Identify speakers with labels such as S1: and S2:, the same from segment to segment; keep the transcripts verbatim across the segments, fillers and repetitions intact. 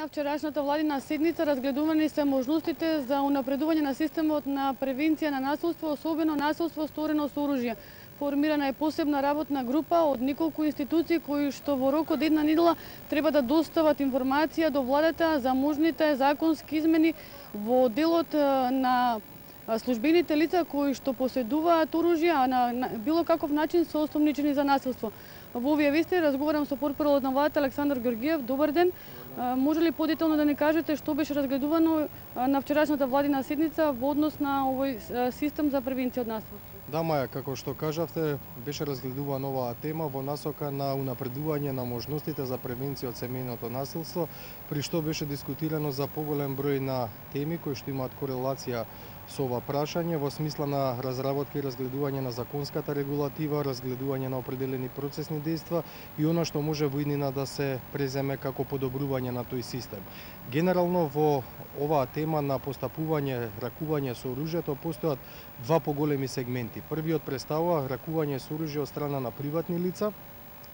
S1: На вчерашната владина седница разгледувани се можностите за унапредување на системот на превенција на насилство, особено насилство сторено со оружје. Формирана е посебна работна група од неколку институции кои што во рок од една недела треба да достават информација до владата за можните законски измени во делот на службените лица кои што поседуваат оружје, а на, на било каков начин се осомничени за насилство. Во овие вести разговарам со портпаролот на владата Александар Георгиев. Добар ден. Може ли подетално да ни кажете што беше разгледувано на вчерашната владина седница во однос на овој систем за превенција од насилство?
S2: Да, Маја, како што кажавте, беше разгледувана оваа тема во насока на унапредување на можностите за превенција од семејното насилство, при што беше дискутирано за поголем број на теми кои што имаат корелација со ова прашање во смисла на разработка и разгледување на законската регулатива, разгледување на определени процесни дејства и она што може во иднина да се преземе како подобрување на тој систем. Генерално во оваа тема на постапување, ракување со оружјето постојат два поголеми сегменти. Првиот представува ракување со оружје од страна на приватни лица,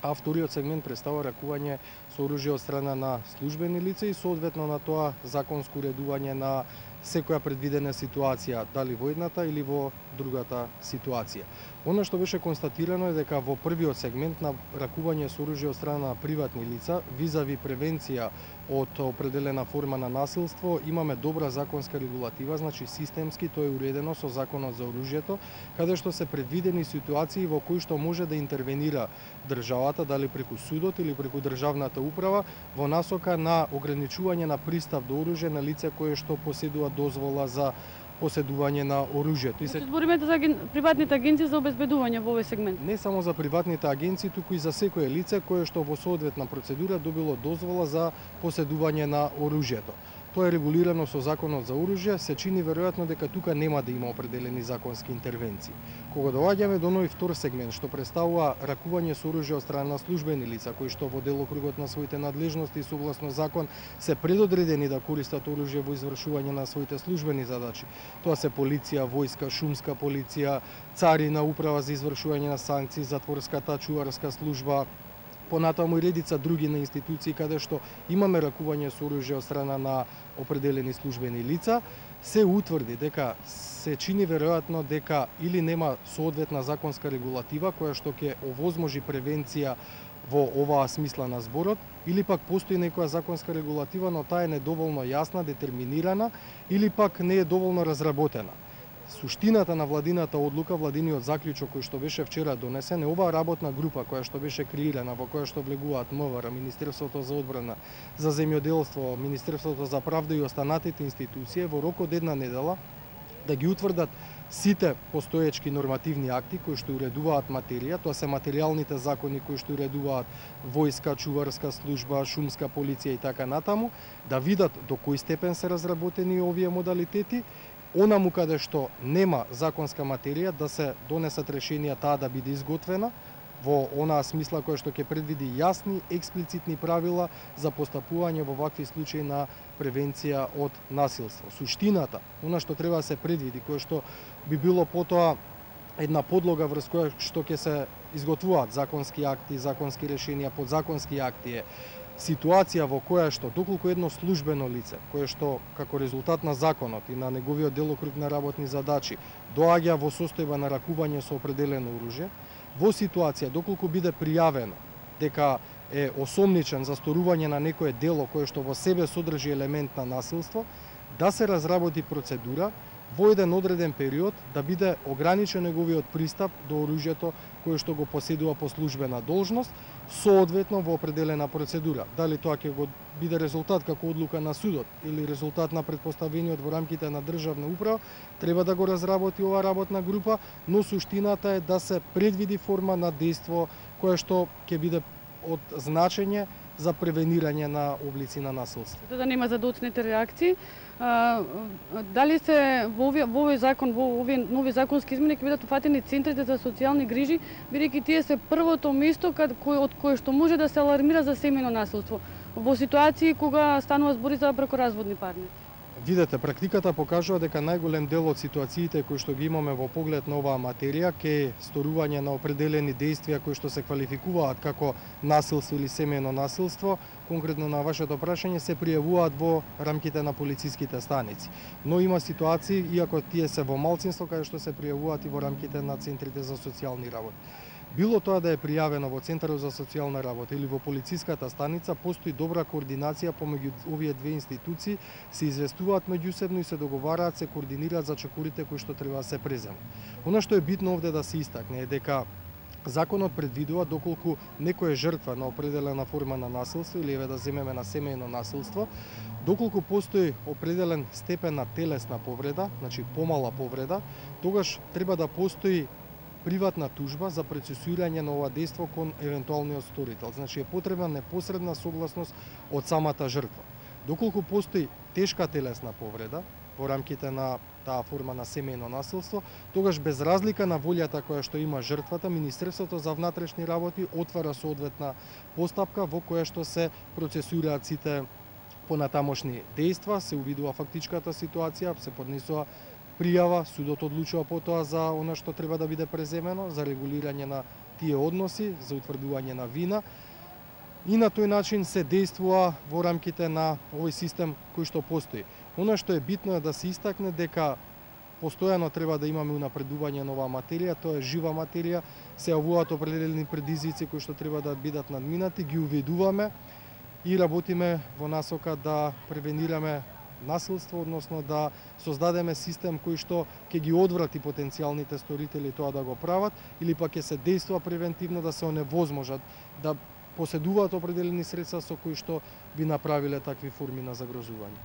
S2: а вториот сегмент представува ракување со оружје од страна на службени лица и соодветно на тоа законско уредување на секоја предвидена ситуација, дали во едната или во другата ситуација. Оно што беше констатирано е дека во првиот сегмент на ракување со оружје од страна на приватни лица, визави превенција од определена форма на насилство, имаме добра законска регулатива, значи системски тоа е уредено со Законот за оружјето, каде што се предвидени ситуации во кои што може да интервенира државата, дали преку судот или преку државната управа, во насока на ограничување на пристап до оружје на лице кое што поседува дозвола за поседување на оружјето.
S1: И се збориме за приватните агенции за обезбедување во овој сегмент.
S2: Не само за приватните агенции, туку и за секое лице кое што во соодветна процедура добило дозвола за поседување на оружјето. Тоа е регулирано со Законот за оружје, се чини веројатно дека тука нема да има определени законски интервенции. Кога доаѓаме до нови втор сегмент што представува ракување со оружје од страна на службени лица кои што во делокругот на своите надлежности согласно закон се предодредени да користат оружје во извршување на своите службени задачи. Тоа се полиција, војска, шумска полиција, царина, управа за извршување на санкции, затворската чуварска служба, понатаму и редица други на институции каде што имаме ракување со оружје од страна на определени службени лица, се утврди дека се чини веројатно дека или нема соодветна законска регулатива која што ќе овозможи превенција во оваа смисла на зборот, или пак постои некоја законска регулатива, но таа е недоволно јасна, детерминирана или пак не е доволно разработена. Суштината на владината одлука, владиниот заклучок кој што беше вчера донесен, е оваа работна група која што беше креирана, во која што влегуваат МВР, Министерството за одбрана, за земјоделство, Министерството за правда и останатите институции, во рок од една недела да ги утврдат сите постоечки нормативни акти кои што уредуваат материја, тоа се материјалните закони кои што уредуваат војска, чуварска служба, шумска полиција и така натаму, да видат до кој степен се разработени овие модалитети, онаму каде што нема законска материја да се донесат решенија таа да биде изготвена во онаа смисла која што ќе предвиди јасни, експлицитни правила за постапување во вакви случаи на превенција од насилство. Суштината, она што треба да се предвиди, кое што би било потоа една подлога врз која што ќе се изготвуваат законски акти, законски решенија, подзаконски акти, е ситуација во која што доколку едно службено лице, кое што како резултат на законот и на неговиот делокруг на работни задачи доаѓа во состојба на ракување со определено оружје, во ситуација доколку биде пријавено дека е осомничен за сторување на некое дело кое што во себе содржи елемент на насилство, да се разработи процедура во еден одреден период да биде ограничен неговиот пристап до оружјето кое што го поседува по службена должност, соодветно во определена процедура. Дали тоа ќе го биде резултат како одлука на судот или резултат на претпоставениот во рамките на државна управа, треба да го разработи оваа работна група, но суштината е да се предвиди форма на дејство кое што ќе биде од значење за превенирање на облици на насилство.
S1: Да нема задоцните реакции. А, дали се во овој, во овој закон, во овие нови законски измени ќе бидат упатени центрите за социјални грижи, бидејќи тие се првото место кад, кој, од кое што може да се алармира за семејно насилство во ситуации кога станува збори за бракоразводни парници?
S2: Видете, практиката покажува дека најголем дел од ситуациите кои што ги имаме во поглед на оваа материја ке сторување на определени действија кои што се квалификуваат како насилство или семејно насилство, конкретно на вашето прашање, се пријавуваат во рамките на полициските станици. Но има ситуации, иако тие се во малцинство, каде што се пријавуваат и во рамките на центрите за социјални работи. Било тоа да е пријавено во Центарот за социјална работа или во полициската станица, постои добра координација помеѓу овие две институции, се известуваат меѓусебно и се договараат, се координираат за чекорите кои што треба да се преземат. Она што е битно овде да се истакне е дека законот предвидува доколку некој е жртва на определена форма на насилство или еве да земеме на семејно насилство, доколку постои определен степен на телесна повреда, значи помала повреда, тогаш треба да постои приватна тужба за процесуирање на ова дејство кон евентуалниот сторител. Значи е потребна непосредна согласност од самата жртва. Доколку постои тешка телесна повреда во рамките на таа форма на семејно насилство, тогаш без разлика на волјата која што има жртвата, Министерството за внатрешни работи отвара соодветна постапка во која што се процесуираат сите понатамошни дејства, се увидува фактичката ситуација, се поднесува пријава, судот одлучува потоа за она што треба да биде преземено, за регулирање на тие односи, за утврдување на вина. И на тој начин се действува во рамките на овој систем кој што постои. Она што е битно е да се истакне дека постојано треба да имаме унапредување на оваа материја, тоа е жива материја, се јавуваат определени предизвици кои што треба да бидат надминати, ги уведуваме и работиме во насока да превенираме насилство, односно да создадеме систем кој што ќе ги одврати потенцијалните сторители тоа да го прават, или пак ќе се действува превентивно да се оневозможат да поседуваат определени средства со кои што би направиле такви форми на загрозување.